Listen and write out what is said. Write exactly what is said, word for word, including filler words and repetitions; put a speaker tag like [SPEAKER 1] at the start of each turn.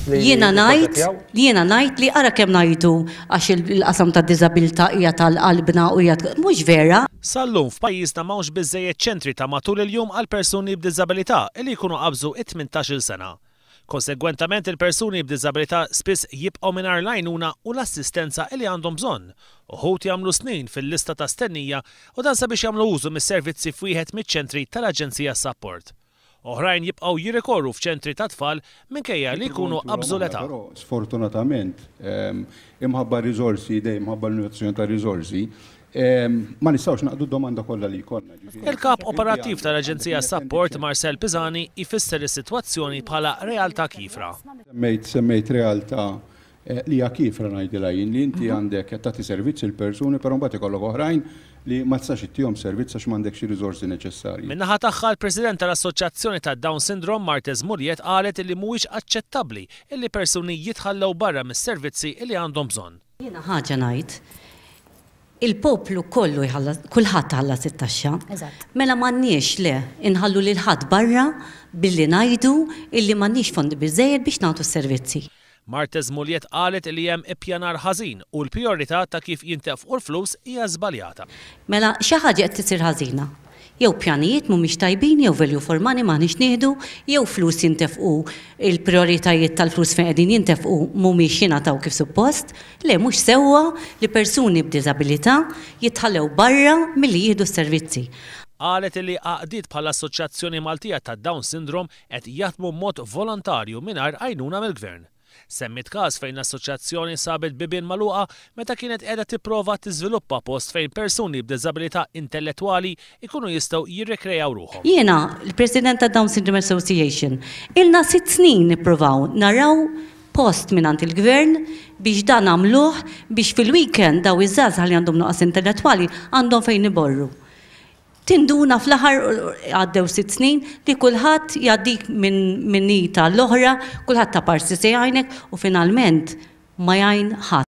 [SPEAKER 1] Jiena ngħid, jiena ngħid li ara kemm ngħidu għax il-qasam ta' diżabilità hija tal-qalbna u hija mhux vera.
[SPEAKER 2] Sal-lum f'pajjiżna m'hawnx biżejjed ċentri ta' matul il-jum għal persuni b'diżabilità li jkunu qabżu it-tmintax-il sena. Konsegwentament, il-persuni b'diżabilità spiss jibqgħu mingħajr l-għajnuna u l-assistenza li għandhom bżonn. Uħud jagħmlu snin fil-lista ta' stennija u dan sabiex jagħmlu użu mis-servizzi f'wieħed miċ-ċentri tal-Aġenzija Sapport. Oħrajn jibqgħu jirrikorru f'ċentri ta' tfal minkejja li jkunu qabżu l-età.
[SPEAKER 3] Però sfortunatament, imħabba riżorsi, dejjem imħabba l-limitazzjoni ta' riżorsi, ma nistgħux naqdu domanda kollha li jkollna.
[SPEAKER 2] Il-kap operattiv tal-Aġenzija Sapport, Marcel Pisani, jfisser is-sitwazzjoni bħala realtà kiefra.
[SPEAKER 3] Semmejt semmejt realtà li hija kiefra, ngħidilha jien, li inti għandek qed tagħti servizz il-persuni, però mbagħad ikollok oħrajn li ma tistax ittihom servizz għax m'għandekx ir-riżorsi neċessarji.
[SPEAKER 2] Min-naħa tagħha, l-President tal-Assoċjazzjoni ta' Down Syndrome, Marthese Mugliett, qalet li mhuwiex aċċettabbli illi persuni jitħallew barra mis-servizzi li għandhom bżonn.
[SPEAKER 1] Jiena ħaġa ngħid, il-poplu kollu jħallas, kulħadd ħallas it-taxxa. Mela m'għandniex le inħallu lil ħadd barra billi ngħidu illi m'għandniex fondi biżejjed biex nagħtu s-servizzi.
[SPEAKER 2] Marthese Mugliett qalet li hemm ippjanar ħażin u l-priorità ta' kif jintefqu l-flus hija żbaljata.
[SPEAKER 1] Mela xi ħaġa qed tisir ħażina. Jew pjanijiet mhumiex tajbin, jew value for money m'aħniex nieħdu, jew flus jintefqu, il-prioritajiet tal-flus fejn qegħdin jintefqu mhumiex jingħataw kif suppost. Le, mhux sewwa li persuni b'diżabilità jitħallew barra milli jieħdu s-servizzi.
[SPEAKER 2] Qalet li għaqdiet bħala Assoċjazzjoni Maltija ta' Down Syndrome qed jaħdmu mod volontarju mingħajr għajnuna mill-gvern. Semmit każ fejn l-assoċjazzjoni sabet bibien magħluqa meta kienet qiegħda tipprova tiżviluppa post fejn persuni b'diżabilità intellettwali ikunu jistgħu jirrekrejaw ruħhom.
[SPEAKER 1] Jiena, il-President ta' Down Syndrome Association, ilna sitt snin nippruvaw naraw post mingħand il-gvern biex dan għamluh biex fil-weekend daw iż-żgħażagħ li għandhom nuqqas intellettwali għandhom fejn iborru. Tinduna fl-aħħar, għaddew sitt snin, li kulħadd jgħaddik minn min ita l-oħra, kulħadd ta' parsi se jgħinek u finalment ma jgħin ħadd.